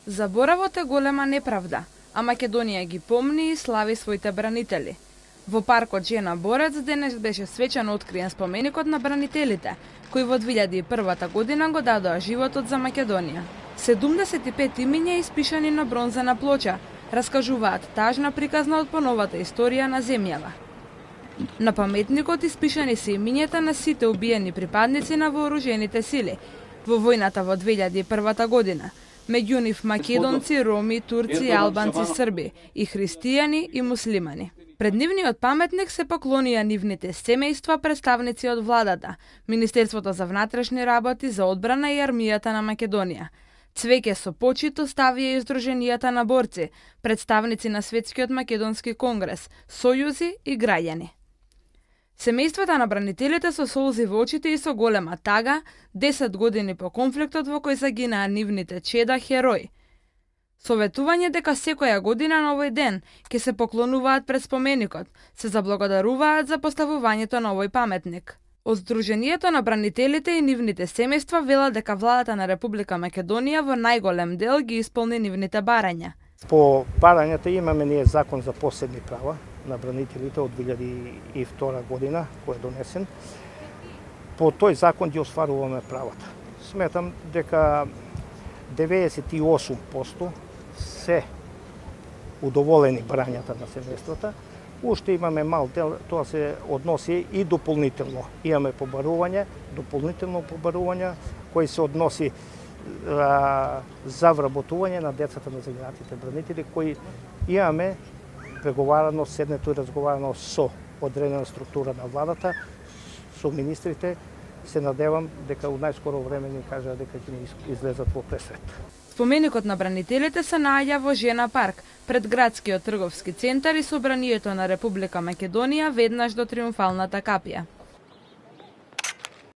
Заборавот е голема неправда, а Македонија ги помни и слави своите бранители. Во паркот Жена Борец денес беше свечано откриен споменикот на бранителите, кои во 2001 година го дадоа животот за Македонија. 75 имиња испишани на бронзена плоча раскажуваат тажна приказна од поновата историја на земјава. На паметникот испишани се имињата на сите убиени припадници на вооружените сили во војната во 2001 година, меѓу нив македонци, роми, турци, албанци, срби и христијани и муслимани. Пред нивниот паметник се поклонија нивните семејства, представници од владата, Министерството за внатрешни работи, за одбрана и армијата на Македонија. Цвеќе со почит оставија и Сдруженијата на борци, представници на Светскиот македонски конгрес, сојузи и граѓани. Семејствата на бранителите со солзи во очите и со голема тага, 10 години по конфликтот во кој загинаа нивните чеда херои. Советување дека секоја година на овој ден ќе се поклонуваат пред споменикот, се заблагодаруваат за поставувањето на овој паметник. Од Сдруженијето на бранителите и нивните семејства велат дека владата на Република Македонија во најголем дел ги исполни нивните барања. По барањата имаме ние закон за посебни права на бранителите од 2002 година, кој е донесен. По тој закон ги остваруваме правата. Сметам дека 98% се удоволени барањата на семејствата. Уште имаме мал дел, тоа се односи и дополнително. Имаме побарување, дополнително побарување, кој се односи за вработување на децата на загинатите бранители, кои имаме преговарано, седнето и разговарано со одредена структура на владата, со министрите. Се надевам дека у најскоро време ни кажа дека ќе ни излезат во пресвет. Споменикот на бранителите се наоѓа во Жена парк, пред градскиот трговски центар и собранието на Република Македонија веднаш до Триумфалната капија.